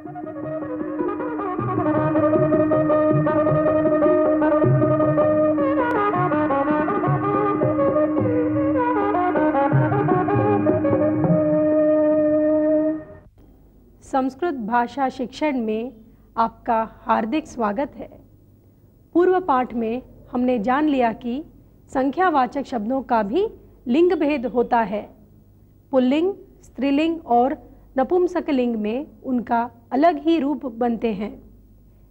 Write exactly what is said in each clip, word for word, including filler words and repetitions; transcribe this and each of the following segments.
संस्कृत भाषा शिक्षण में आपका हार्दिक स्वागत है। पूर्व पाठ में हमने जान लिया कि संख्यावाचक शब्दों का भी लिंग भेद होता है। पुल्लिंग, स्त्रीलिंग और नपुंसकलिंग में उनका अलग ही रूप बनते हैं।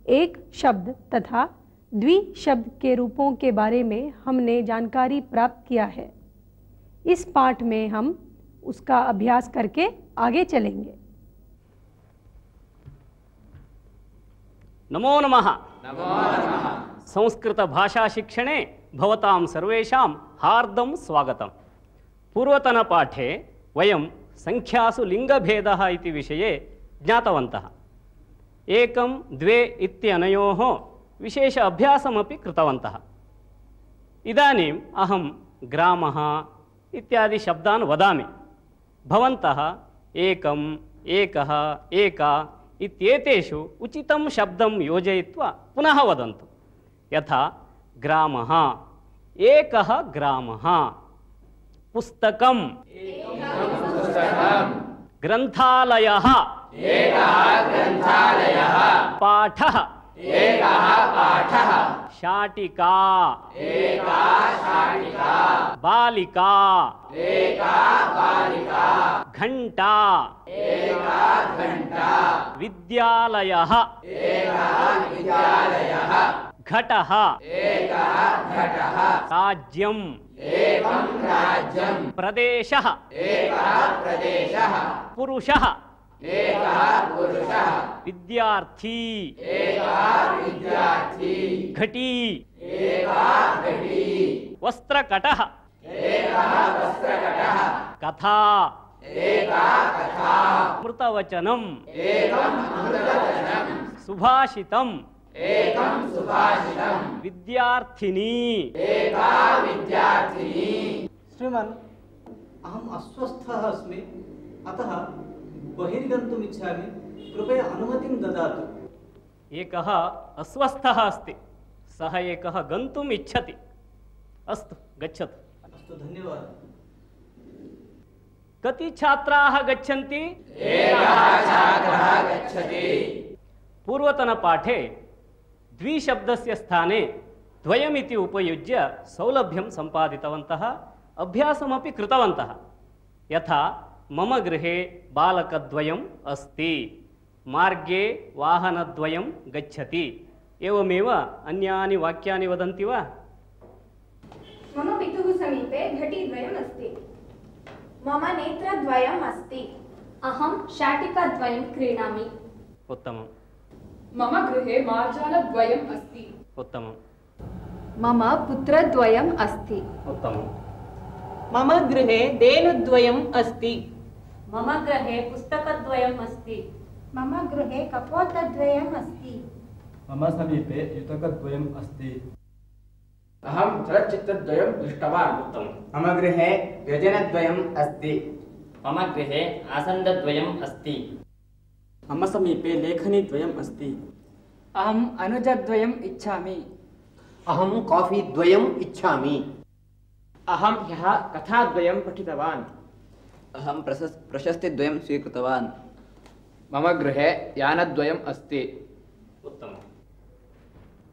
एक शब्द तथा द्वि शब्द के रूपों के बारे में हमने जानकारी प्राप्त किया है। इस पाठ में हम उसका अभ्यास करके आगे चलेंगे। नमो नमः। नमो नमः। संस्कृत भाषा शिक्षणे भवतां सर्वेषां हार्दं स्वागतम्। पूर्वतन पाठे वयं संख्यासु लिंगभेदः इति विषये ज्ञातवन्तः। एकं द्वे इत्यनयोः विशेष अभ्यासमपि कृतवन्तः। इदानीम् अहं ग्रामः इत्यादि शब्दान् वदामि। भवन्तः एकम्, एकः, एका इत्येतेषु उचितं शब्दं योजयित्वा पुनः वदन्तु। यथा ग्रामः, एकः ग्रामः, पुस्तकं, ग्रन्थालयः, पाठः, शाटिका, बालिका, घंटा, विद्यालयः, घटः, राज्यं, प्रदेशः, पुरुषः, विद्यार्थी, घटी, वस्त्रकटः, कथा, मृतवचनं, सुभाषितं, विद्यार्थिनी। श्रीमन्, अहम् अस्वस्थः अस्मि, अतः बहिर्गन्तुम् इच्छामि। कृपया अनुमतिं ददातु। एकः अस्वस्थः अस्ति, सः एकः गन्तुम् इच्छति। अस्तु, गच्छतु। अस्तु, धन्यवादः। कति छात्राः गच्छन्ति? एकः छात्रः गच्छति। पूर्वतनपाठे द्विशब्दस्य स्थाने द्वयमिति उपयुज्य सौलभ्यं सम्पादितवन्तः, अभ्यासमपि कृतवन्तः। यथा मम गृहे बालकद्वयम् अस्ति, मार्गे वाहनद्वयं गच्छति। एवमेव अन्यानि वाक्यानि वदन्ति वा? मम पितुः समीपे घटीद्वयम् अस्ति। मम नेत्रद्वयम् अस्ति। अहं शाटिकाद्वयं क्रीणामि। उत्तमम्। मम गृहे मार्जालद्वयम् अस्ति। उत्तमम्। मम पुत्रद्वयम् अस्ति। उत्तमम्। मम गृहे धेनुद्वयम् अस्ति। मम गृहे पुस्तकद्वयम् अस्ति। मम गृहे कपोतद्वयम् अस्ति। मम समीपे युतकद्वयम् अस्ति। अहं चलच्चित्रद्वयं दृष्टवान्। उत्तमम्। मम गृहे व्यजनद्वयम् अस्ति। मम गृहे आसन्दद्वयम् अस्ति। मम समीपे लेखनीद्वयम् अस्ति। अहम् अनुजद्वयम् इच्छामि। अहं कॉफीद्वयम् इच्छामि। अहं ह्यः कथाद्वयं पठितवान्। अहं प्रशस्तिद्वयं स्वीकृतवान्। मम गृहे यानद्वयम् अस्ति। उत्तमम्।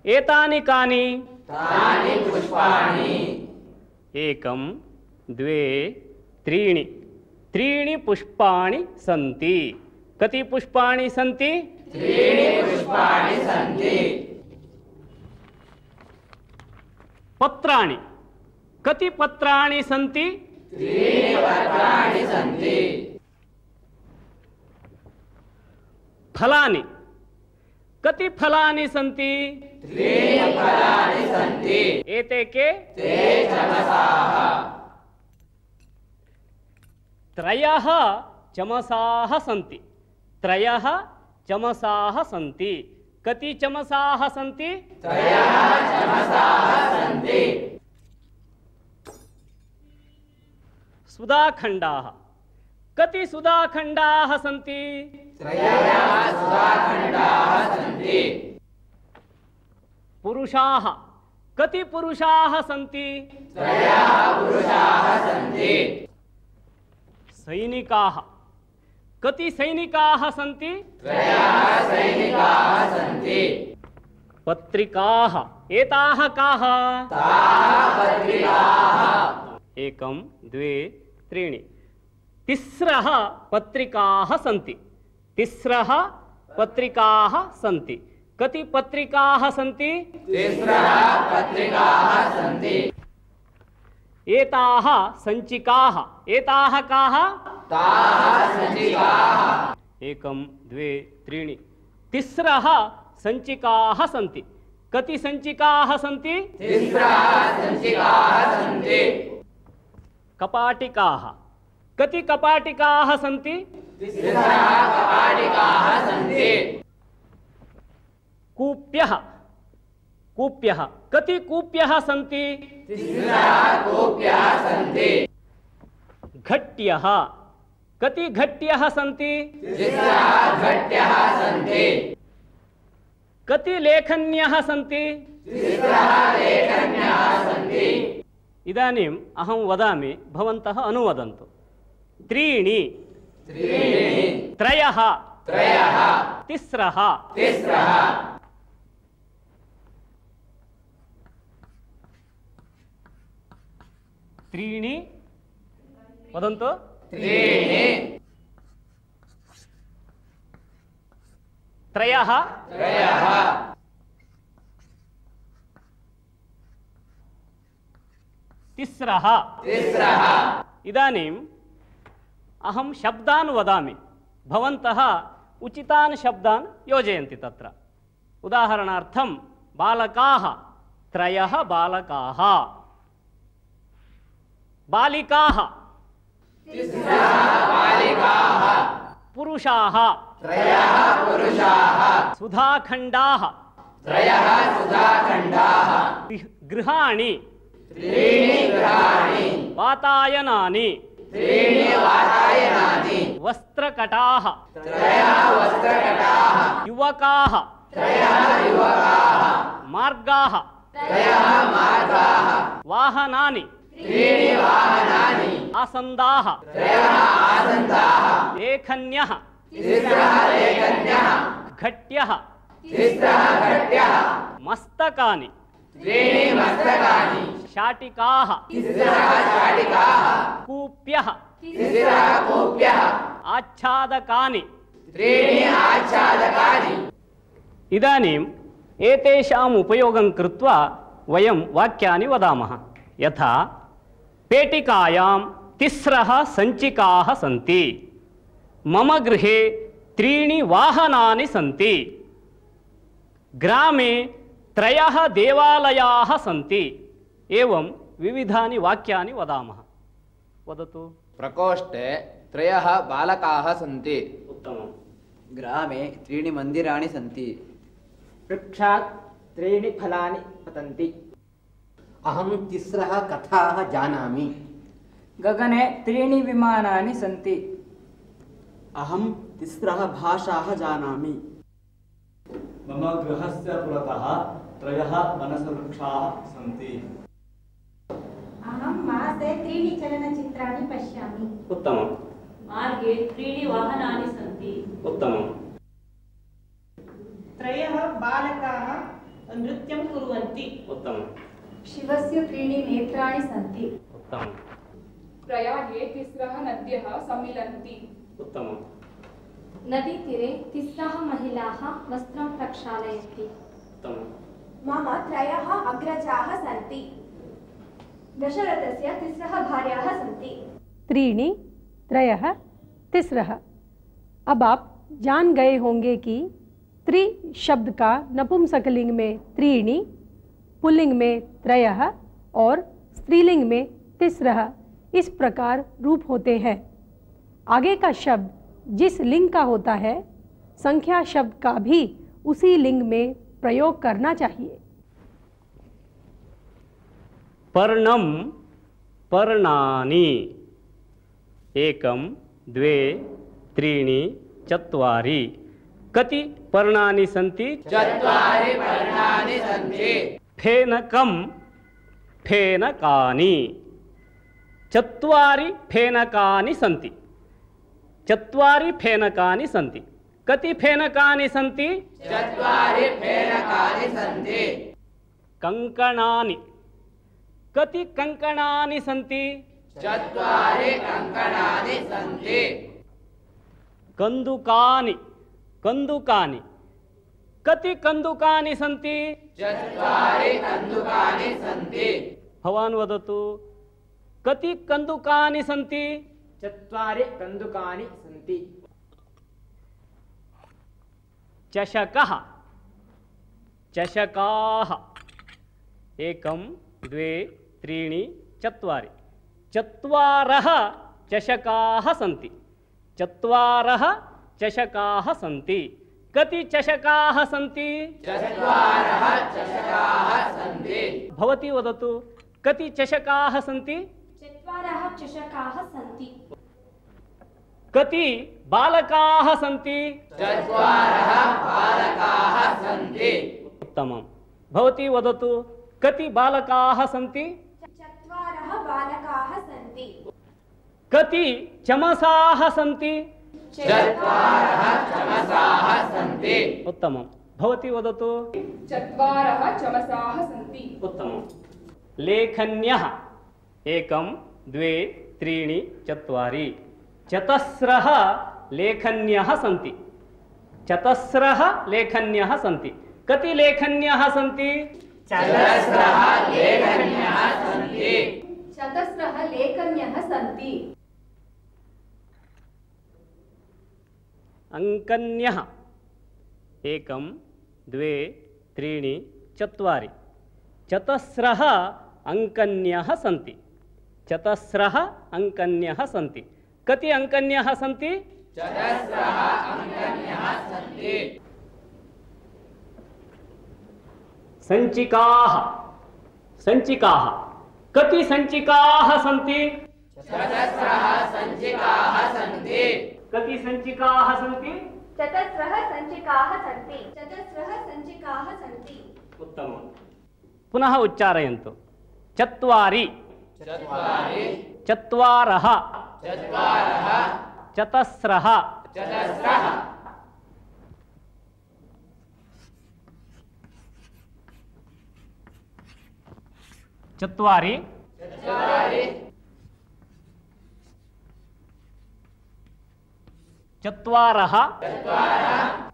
एतानि कानि? तानि पुष्पाणि। एकं, द्वे, त्रीणि। त्रीणि पुष्पाणि सन्ति। कति पुष्पाणि सन्ति? त्रीणि पुष्पाणि सन्ति। पत्राणि। कति पत्राणि सन्ति? त्रीणि पत्राणि सन्ति। फलानि। कति फलानि सन्ति? त्रीणि फलानि सन्ति। एते के? ते चमसाः। त्रयः चमसाः सन्ति। त्रयः चमसाः सन्ति। कति चमसाः सन्ति? त्रयः चमसाः सन्ति। सुधाखण्डाः। कति सुधाखण्डाः सन्ति? त्रयः सुधाखण्डाः पुरुषाः कति पुरुषाः सन्ति त्रयः पुरुषाः सन्ति सैनिकाः कति सैनिकाः सन्ति त्रयः सैनिकाः सन्ति पत्रिकाः एताः काः ताः पत्रिकाः एकं द्वे त्रीणि तिस्रः पत्रिकाः सन्ति तिस्रः पत्रिकाः सन्ति कति पत्रिकाः सन्ति तिस्रः पत्रिकाः सन्ति एताः सञ्चिकाः एताः काः ताः सञ्चिकाः एकं द्वे त्रीणि तिस्रः सञ्चिकाः सन्ति कति सञ्चिकाः सन्ति तिस्रः सञ्चिकाः सन्ति कपाटिकाः कति कपाटिकाः सन्ति तिस्रः कपाटिकाः सन्ति कूप्यः कूप्यः कति कूप्यः सन्ति तिस्रः कूप्यः सन्ति घट्यः कति घट्यः सन्ति तिस्रः घट्यः सन्ति कति लेखन्यः सन्ति तिस्रः लेखन्यः सन्ति इदानीम् अहं वदामि भवन्तः अनुवदन्तु त्रीणि त्रीणि त्रयः त्रयः तिस्रः तिस्रः त्रीणि वदन्तु त्रीणि त्रयः त्रयः तिस्रः तिस्रः इदानीम् अहं शब्दान् वदामि भवन्तः उचितान् शब्दान् योजयन्ति तत्र उदाहरणार्थं बालकाः त्रयः बालकाः बालिकाः तिस्रः बालिकाः पुरुषाः त्रयः पुरुषाः सुधाखण्डाः त्रयः सुधाखण्डाः गृहाणि त्रीणि गृहाणि वातायनानि त्रीणि वातायनानि वस्त्रकटाः त्रयः वस्त्रकटाः युवकाः त्रयः युवकाः मार्गाः त्रयः मार्गाः वाहनानि त्रीणि वाहनानि आसन्दाः त्रयः आसन्दाः लेखन्यः तिस्रः लेखन्यः घट्यः तिस्रः घट्यः मस्तकानि त्रीणि मस्तकानि शाटिकाः तिस्रः शाटिकाः कूप्यः तिस्रः कूप्यः आच्छादकानि त्रीणि आच्छादकानि इदानीम् एतेषाम् उपयोगं कृत्वा वयं वाक्यानि वदामः यथा पेटिकायां तिस्रः सञ्चिकाः सन्ति मम गृहे त्रीणि वाहनानि सन्ति ग्रामे त्रयः देवालयाः सन्ति एवं विविधानि वाक्यानि वदामः वदतु प्रकोष्ठे त्रयः बालकाः सन्ति उत्तमं ग्रामे त्रीणि मन्दिराणि सन्ति वृक्षात् त्रीणि फलानि पतन्ति अहं तिस्रः कथाः जानामि गगने त्रीणि विमानानि सन्ति अहं तिस्रः भाषाः जानामि मम गृहस्य पुरतः त्रयः मनसवृक्षाः सन्ति अहं मासे त्रीणि चलनचित्राणि पश्यामि उत्तमं मार्गे त्रीणि वाहनानि सन्ति उत्तमं त्रयः बालकाः नृत्यं कुर्वन्ति उत्तमं शिवस्य त्रीणि नेत्राणि सन्ति उत्तमं प्रयागे तिस्रः नद्यः सम्मिलन्ति उत्तमं नदीतीरे तिस्रः महिलाः वस्त्रं प्रक्षालयन्ति उत्तमं मम त्रयः अग्रजाः सन्ति दशरथस्य तिस्रः भार्याः सन्ति त्रीणि त्रयः तिस्रः। अब आप जान गए होंगे कि त्रि शब्द का नपुंसकलिंग में त्रीणि, पुल्लिंग में त्रयः और स्त्रीलिंग में तिस्रः इस प्रकार रूप होते हैं। आगे का शब्द जिस लिंग का होता है संख्या शब्द का भी उसी लिंग में प्रयोग करना चाहिए। पर्णम पर्णानि एकं द्वे त्रीणि चत्वारि कति पर्णानि सन्ति? चत्वारि पर्णानि सन्ति। फेनकं फेनकानि। चत्वारि फेनकानि सन्ति। चत्वारि फेनकानि सन्ति। कति फेनकानि सन्ति? चत्वारि फेनकानि सन्ति। कंकणानि। कति कंकणानि सन्ति? चत्वारि कंकणानि सन्ति। कंदुकानि। कंदुकानि। कति कंदुकानि सन्ति? चत्वारि कंदुकानि सन्ति। भवान् वदतु, कति कंदुकानि सन्ति? चत्वारि कंदुकानि सन्ति। चषकः। चषकाः। एकं द्वे त्रीणि चत्वारि। चत्वारः चषकाः सन्ति। चत्वारः चषकाः सन्ति। कति चषकाः सन्ति? चत्वारः चषकाः सन्ति। भवती वदतु, कति चषकाः सन्ति? चत्वारः चषकाः सन्ति। कति बालकाः सन्ति? चत्वारः बालकाः सन्ति। उत्तमं। भवती वदतु, कति बालकाः सन्ति? चत्वारः बालकाः सन्ति। कति चमसाः सन्ति? चत्वारः चमसाः सन्ति। उत्तमं। भवती वदतु। चत्वारः चमसाः सन्ति। उत्तमं। लेखन्यः। एकं द्वे त्रीणि चत्वारि। चतस्रः लेखन्यः सन्ति। चतस्रः लेखन्यः सन्ति। कति लेखन्यः सन्ति? चतस्रः लेखन्यः सन्ति। चतस्रः लेखन्यः सन्ति। अंकन्यः। एकं द्वे त्रीणि चत्वारि। चतस्रः अंकन्यः सन्ति। चतस्रः अंकन्यः सन्ति। कति अंकन्यः सन्ति? चतस्रः अंकन्यः सन्ति। सञ्चिकाः। सञ्चिकाः। कति सञ्चिकाः सन्ति? चतस्रः सञ्चिकाः सन्ति। कति सञ्चिकाः सन्ति? चतस्रः सञ्चिकाः सन्ति। चतस्रः सञ्चिकाः सन्ति। उत्तमं। पुनः उच्चारयन्तु। चत्वारि। चत्वारि। चत्वारः। चत्वारः। चतस्रः। चतस्रः। चत्वारि। चत्वारि। चत्वारः। चत्वारः।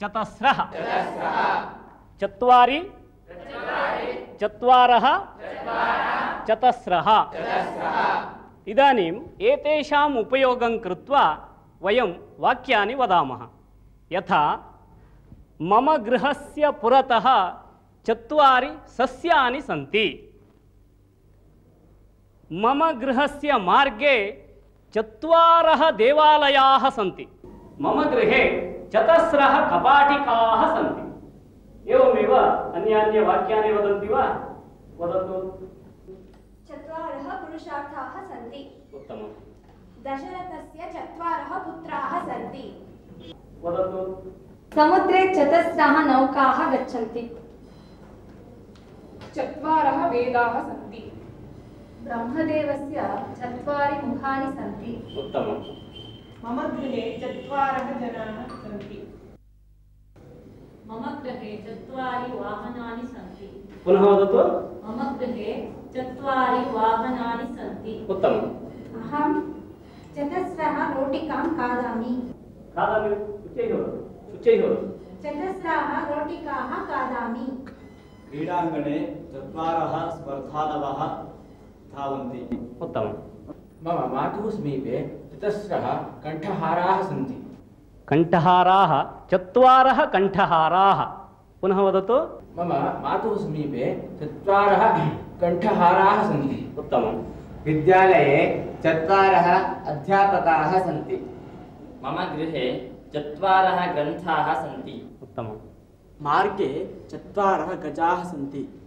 चतस्रः। चतस्रः। चत्वारि। चत्वारि। चत्वारः। चत्वारः। चतस्रः। चतस्रः। इदानीम् एतेषाम् उपयोगं कृत्वा वयं वाक्यानि वदामः। यथा मम गृहस्य पुरतः चत्वारि सस्यानि सन्ति। मम गृहस्य मार्गे चत्वारः देवालयाः सन्ति। मम गृहे चतस्रः कपाटिकाः सन्ति। एवमेव अन्यान्य वाक्यानि वदन्ति वा? वदतु। चत्वारः पुरुषार्थाः सन्ति। उत्तमं। दशरथस्य चत्वारः पुत्राः सन्ति। वदतु। समुद्रे चतस्रः नौकाः गच्छन्ति। चत्वारः वेदाः सन्ति। ब्रह्मदेवस्य चत्वारि मुखानि सन्ति। उत्तमं। मम गृहे चत्वारः जनाः सन्ति। मम गृहे चत्वारि वाहनानि सन्ति। पुनः वदतु। मम गृहे चत्वारि वाहनानि सन्ति। उत्तमम्। अहं चतस्रः रोटिकां खादामि। खादामि। उच्चैः वदतु। उच्चैः वदतु। चतस्रः रोटिकाः खादामि। क्रीडाङ्गणे चत्वारः स्पर्धालवः धावन्ति। उत्तमम्। मम मातुः समीपे चतस्रः कण्ठहाराः सन्ति। कण्ठहाराः। चत्वारः कण्ठहाराः। पुनः वदतु। मम मातुः समीपे चत्वारः कण्ठहाराः सन्ति। उत्तमम्। विद्यालये चत्वारः अध्यापकाः सन्ति। मम गृहे चत्वारः ग्रन्थाः सन्ति। उत्तमम्। मार्गे चत्वारः गजाः सन्ति।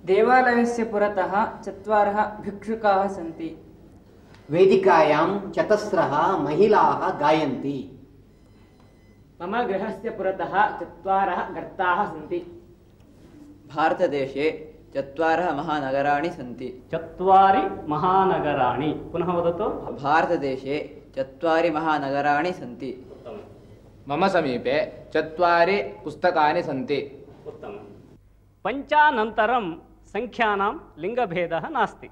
देवालयस्य पुरतः चत्वारः भिक्षुकाः सन्ति। वेदिकायां चतस्रः महिलाः गायन्ति। मम गृहस्य पुरतः चत्वारः गर्ताः सन्ति। भारतदेशे चत्वारः महानगराणि सन्ति। चत्वारि महानगराणि। पुनः वदतु। भारतदेशे चत्वारि महानगराणि सन्ति। मम समीपे चत्वारि पुस्तकानि सन्ति। उत्तमम्। पञ्चानन्तरं संख्यानां लिङ्गभेदः नास्ति।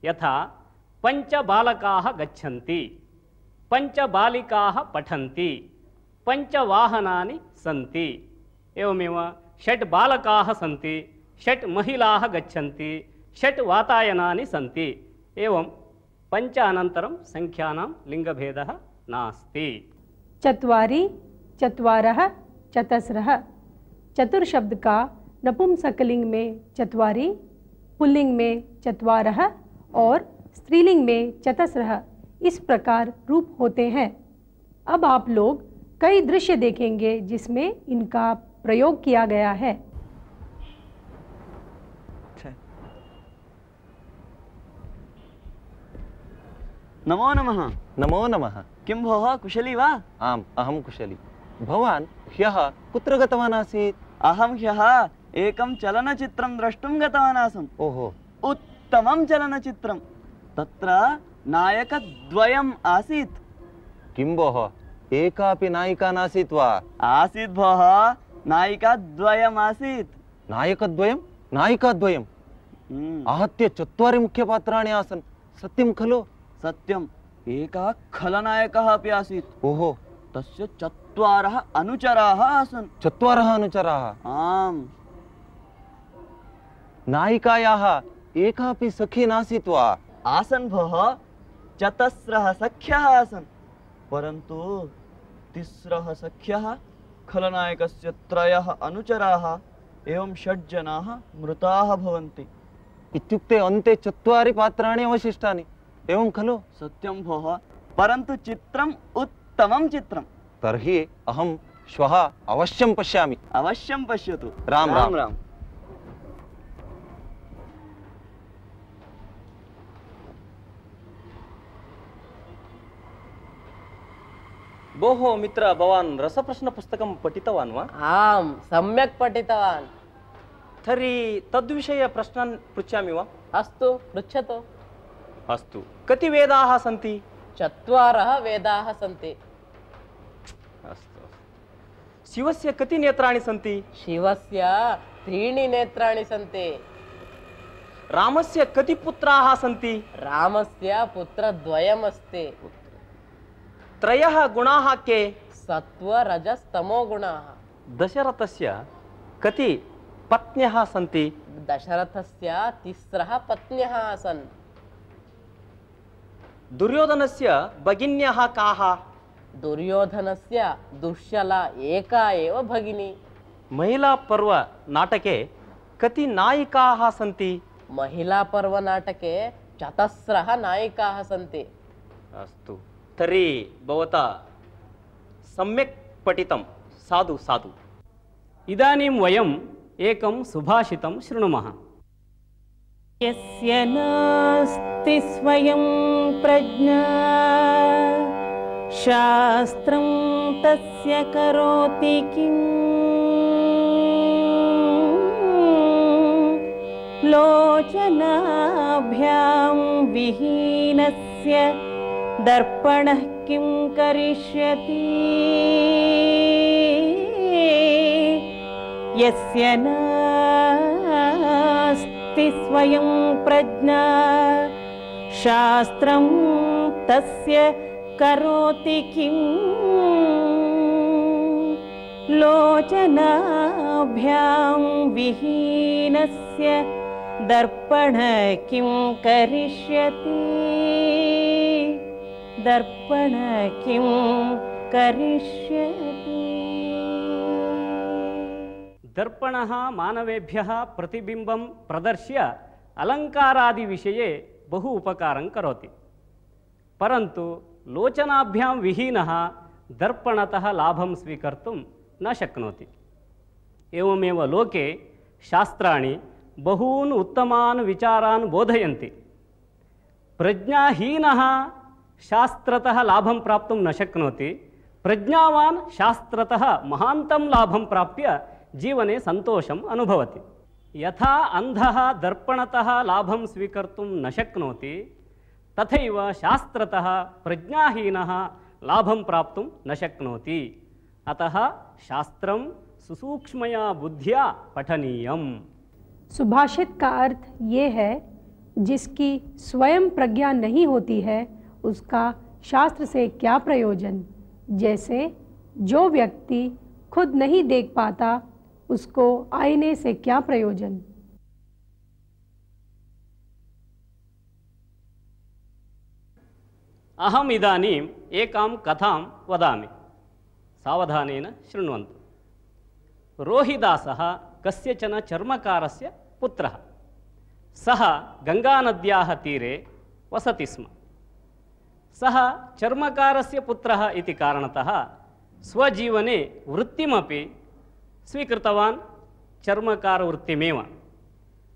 यथा पञ्च बालकाः गच्छन्ति, पञ्च बालिकाः पठन्ति, पञ्च वाहनानि सन्ति। एवमेव षट् बालकाः सन्ति, षट् महिलाः गच्छन्ति, षट् वातायनानि सन्ति। एवं पञ्च अनन्तरं संख्यानां लिङ्गभेदः नास्ति। चत्वारि, चत्वारः, चतस्रः। चतुर शब्द का नपुंसकलिंग में चत्वारि, पुल्लिंग में चत्वारः और स्त्रीलिंग में चतस्रः इस प्रकार रूप होते हैं। अब आप लोग कई दृश्य देखेंगे जिसमें इनका प्रयोग किया गया है। नमो नमः। नमो नमः। किं भोः कुशली वा? आम्, अहं कुशली। भवान् ह्यः कुत्र गतवान् आसीत्? अहं ह्यः एकं चलनचित्रं द्रष्टुं गतवान् आसम्। ओहो। उत्तमं चलनचित्रं। तत्र नायकद्वयम् आसीत्। किं भोः, एकापि नायिका नासीत् वा? आसीत् भोः, नायिकाद्वयम् आसीत्। नायकद्वयं? नायिकाद्वयम्? आहत्य चत्वारि मुख्यपात्राणि आसन्, सत्यं खलु? सत्यम्। एकः खलनायकः अपि आसीत्। ओहो। तस्य चत्वारः अनुचराः आसन्। चत्वारः अनुचराः? आम्। नायिकायाः एकापि सखी नासीत् वा? आसन् भोः, चतस्रः सख्यः आसन्, परन्तु तिस्रः सख्यः, खलनायकस्य त्रयः अनुचराः, एवं षड् जनाः मृताः भवन्ति। इत्युक्ते अन्ते चत्वारि पात्राणि अवशिष्टानि, एवं खलु? सत्यं भोः, परन्तु चित्रम् उत्तमं चित्रम्। तर्हि अहं श्वः अवश्यं पश्यामि। अवश्यं पश्यतु। राम राम राम। भोः मित्र, भवान् रसप्रश्नपुस्तकं पठितवान् वा? आम्, सम्यक् पठितवान्। तर्हि तद्विषये प्रश्नान् पृच्छामि वा? अस्तु, पृच्छतु। अस्तु। कति वेदाः सन्ति? चत्वारः वेदाः सन्ति। अस्तु। शिवस्य कति नेत्राणि सन्ति? शिवस्य त्रीणि नेत्राणि सन्ति। रामस्य कति पुत्राः सन्ति? रामस्य पुत्रद्वयमस्ति। त्रयः गुणाः के? सत्त्व रजस् तमो गुणाः। दशरथस्य कति पत्न्यः सन्ति? दशरथस्य तिस्रः पत्न्यः आसन्। दुर्योधनस्य भगिन्यः काः? दुर्योधनस्य दुश्शला एका एव भगिनी। महिला पर्व नाटके कति नायिकाः सन्ति? महिला पर्व नाटके चतस्रः नायिकाः सन्ति। अस्तु। तर्हि भवता सम्यक् पठितं। साधु साधु। इदानीं वयम् एकं सुभाषितं शृणुमः। यस्य नास्ति स्वयं प्रज्ञा शास्त्रं तस्य करोति किम्। लोचनाभ्यां विहीनस्य दर्पणः किं करिष्यति। यस्य नास्ति स्वयं प्रज्ञा शास्त्रं तस्य करोति किम्। लोचनाभ्यां विहीनस्य दर्पणः किं करिष्यति। दर्पणः किं करिष्यति। दर्पणः मानवेभ्यः प्रतिबिम्बं प्रदर्श्य अलङ्कारादिविषये बहु उपकारं करोति, परन्तु लोचनाभ्यां विहीनः दर्पणतः लाभं स्वीकर्तुं न शक्नोति। एवमेव लोके शास्त्राणि बहून् उत्तमान् विचारान् बोधयन्ति, प्रज्ञाहीनः शास्त्रतः लाभं प्राप्तुं न शक्नोति, प्रज्ञावान् शास्त्रतः महान्तं लाभं प्राप्य जीवने सन्तोषम् अनुभवति। यथा अन्धः दर्पणतः लाभं स्वीकर्तुं न शक्नोति तथैव शास्त्रतः प्रज्ञाहीनः लाभं प्राप्तुं न शक्नोति। अतः शास्त्रं सुसूक्ष्मया बुद्धिया पठनीयम्। सुभाषित का अर्थ ये है, जिसकी स्वयं प्रज्ञा नहीं होती है उसका शास्त्र से क्या प्रयोजन। जैसे जो व्यक्ति खुद नहीं देख पाता उसको आईने से क्या प्रयोजन। अहम इदानीम् एकां कथां वदामि, सावधानेन शृण्वन्तु। रोहिदासः कस्यचन चर्मकारस्य पुत्रः। सः गङ्गानद्याः तीरे वसति स्म। सः चर्मकारस्य पुत्रः इति कारणतः स्वजीवने वृत्तिमपि स्वीकृतवान्, चर्मकारवृत्तिमेव।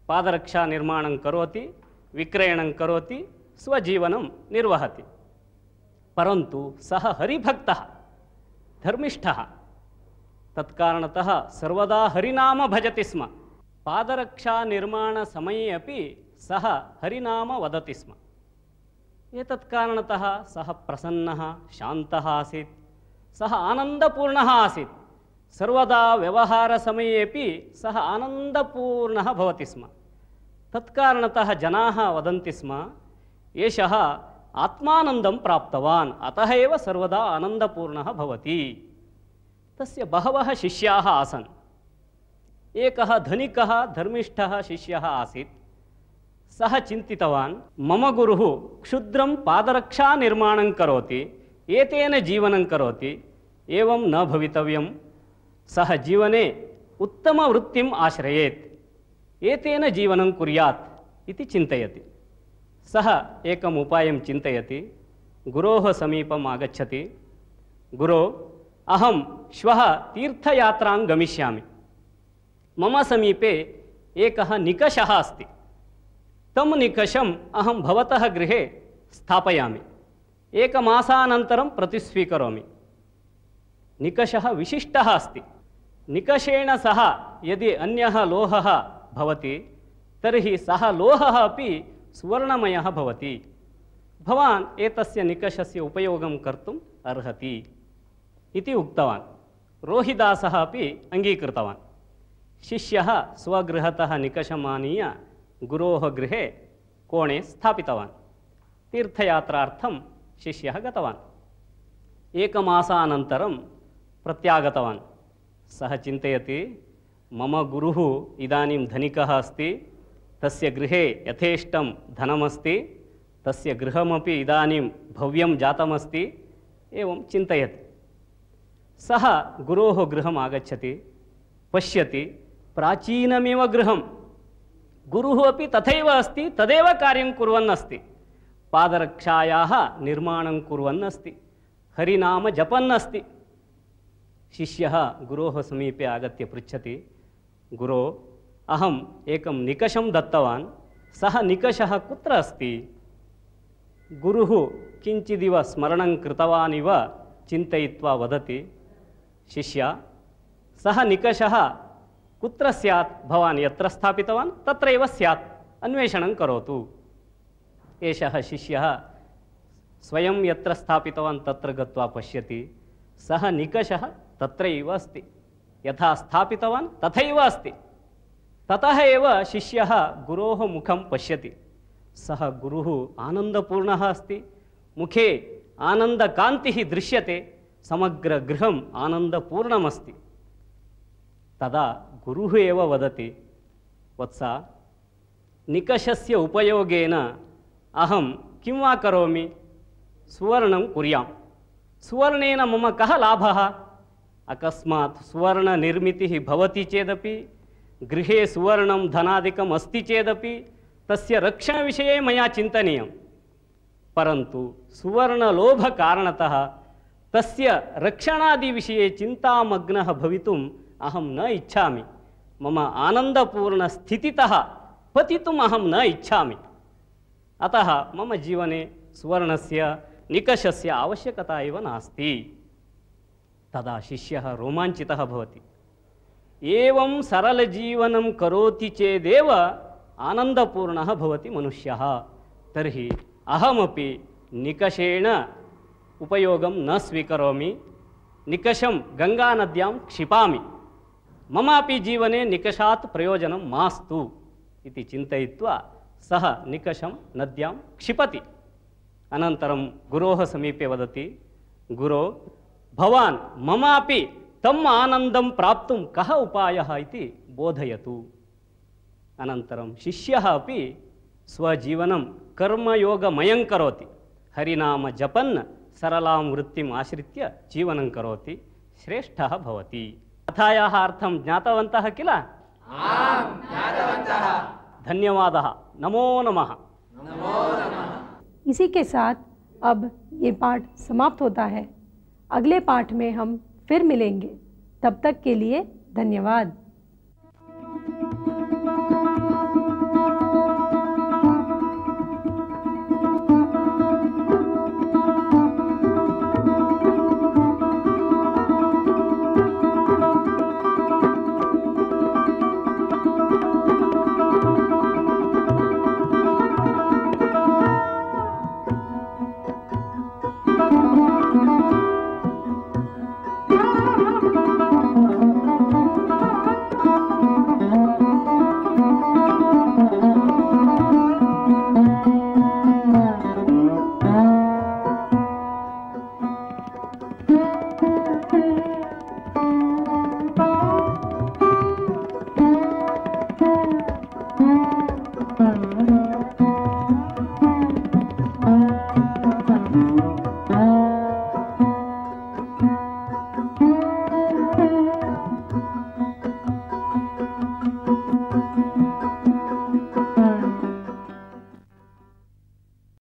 पादरक्षानिर्माणं करोति, विक्रयणं करोति, स्वजीवनं निर्वहति। परन्तु सः हरिभक्तः, धर्मिष्ठः, तत्कारणतः सर्वदा हरिनाम भजति स्म। पादरक्षानिर्माणसमये अपि सः हरिनाम वदति स्म। एतत् कारणतः सः प्रसन्नः, शान्तः आसीत्, सः आनन्दपूर्णः आसीत्। सर्वदा व्यवहारसमयेपि सः आनन्दपूर्णः भवति स्म। तत्कारणतः जनाः वदन्ति स्म, एषः आत्मानन्दं प्राप्तवान्, अतः एव सर्वदा आनन्दपूर्णः भवति। तस्य बहवः शिष्याः आसन्। एकः धनिकः धर्मिष्ठः शिष्यः आसीत्। सः चिन्तितवान्, मम गुरुः क्षुद्रं पादरक्षानिर्माणं करोति, एतेन जीवनं करोति, एवं न भवितव्यं। सः जीवने उत्तमवृत्तिम् आश्रयेत्, एतेन जीवनं कुर्यात् इति चिन्तयति। सः एकम् उपायं चिन्तयति। गुरोः समीपम् आगच्छति। गुरो, अहं श्वः तीर्थयात्रां गमिष्यामि। मम समीपे एकः निकषः अस्ति। तं निकषम् अहं भवतः गृहे स्थापयामि। एकमासानन्तरं प्रतिस्वीकरोमि। निकषः विशिष्टः अस्ति। निकषेण सह यदि अन्यः लोहः भवति तर्हि सः लोहः अपि सुवर्णमयः भवति। भवान् एतस्य निकषस्य उपयोगं कर्तुम् अर्हति इति उक्तवान्। रोहिदासः अपि अङ्गीकृतवान्। शिष्यः स्वगृहतः निकषम् आनीय गुरोः गृहे कोणे स्थापितवान्। तीर्थयात्रार्थं शिष्यः गतवान्। एकमासानन्तरं प्रत्यागतवान्। सः चिन्तयति, मम गुरुः इदानीं धनिकः अस्ति, तस्य गृहे यथेष्टं धनमस्ति, तस्य गृहमपि इदानीं भव्यं जातमस्ति, एवं चिन्तयति। सः गुरोः गृहम् आगच्छति, पश्यति, प्राचीनमेव गृहं। गुरुः अपि तथैव अस्ति, तदेव कार्यं कुर्वन् अस्ति। पादरक्षायाः निर्माणं कुर्वन् अस्ति, हरिनाम जपन् अस्ति। शिष्यः गुरोः समीपे आगत्य पृच्छति, गुरो, अहम् एकं निकषं दत्तवान्, सः निकषः कुत्र अस्ति? गुरुः किञ्चिदिव स्मरणं कृतवान् इव चिन्तयित्वा वदति, शिष्य, सः निकषः कुत्र स्यात्? भवान् यत्र स्थापितवान् तत्रैव स्यात्, अन्वेषणं करोतु। एषः शिष्यः स्वयं यत्र स्थापितवान् तत्र गत्वा पश्यति, सः निकषः तत्रैव अस्ति, यथा स्थापितवान् तथैव अस्ति। ततः एव शिष्यः गुरोः मुखं पश्यति। सः गुरुः आनन्दपूर्णः अस्ति, मुखे आनन्दकान्तिः दृश्यते, समग्रगृहम् आनन्दपूर्णमस्ति। तदा गुरुः एव वदति, वत्स, निकषस्य उपयोगेन अहं किं वा करोमि? सुवर्णं कुर्याम्। सुवर्णेन मम कः लाभः? अकस्मात् सुवर्णनिर्मितिः भवति चेदपि, गृहे सुवर्णं धनादिकम् अस्ति चेदपि तस्य रक्षणविषये मया चिन्तनीयं। परन्तु सुवर्णलोभकारणतः तस्य रक्षणादिविषये चिन्तामग्नः भवितुम् अहं न इच्छामि। मम आनन्दपूर्णस्थितितः पतितुम् अहं न इच्छामि। अतः मम जीवने सुवर्णस्य निकषस्य आवश्यकता एव नास्ति। तदा शिष्यः रोमाञ्चितः भवति। एवं सरलजीवनं करोति चेदेव आनन्दपूर्णः भवति मनुष्यः। तर्हि अहमपि निकषेण उपयोगं न स्वीकरोमि, निकषं गङ्गानद्यां क्षिपामि। ममापि जीवने निकषात् प्रयोजनं मास्तु इति चिन्तयित्वा सः निकषं नद्यां क्षिपति। अनन्तरं गुरोः समीपे वदति, गुरो भवान् ममापि तम् आनन्दं प्राप्तुं कः उपायः इति बोधयतु। अनन्तरं शिष्यः अपि स्वजीवनं कर्मयोगमयं करोति। हरिनाम जपन् सरलां वृत्तिम् आश्रित्य जीवनं करोति, श्रेष्ठः भवति। कथायाः अर्थं ज्ञातवन्तः किल? आम्, ज्ञातवन्तः। धन्यवादः। नमो नमः। नमो नमः। इसी के साथ अब ये पाठ समाप्त होता है। अगले पाठ में हम फिर मिलेंगे। तब तक के लिए धन्यवाद।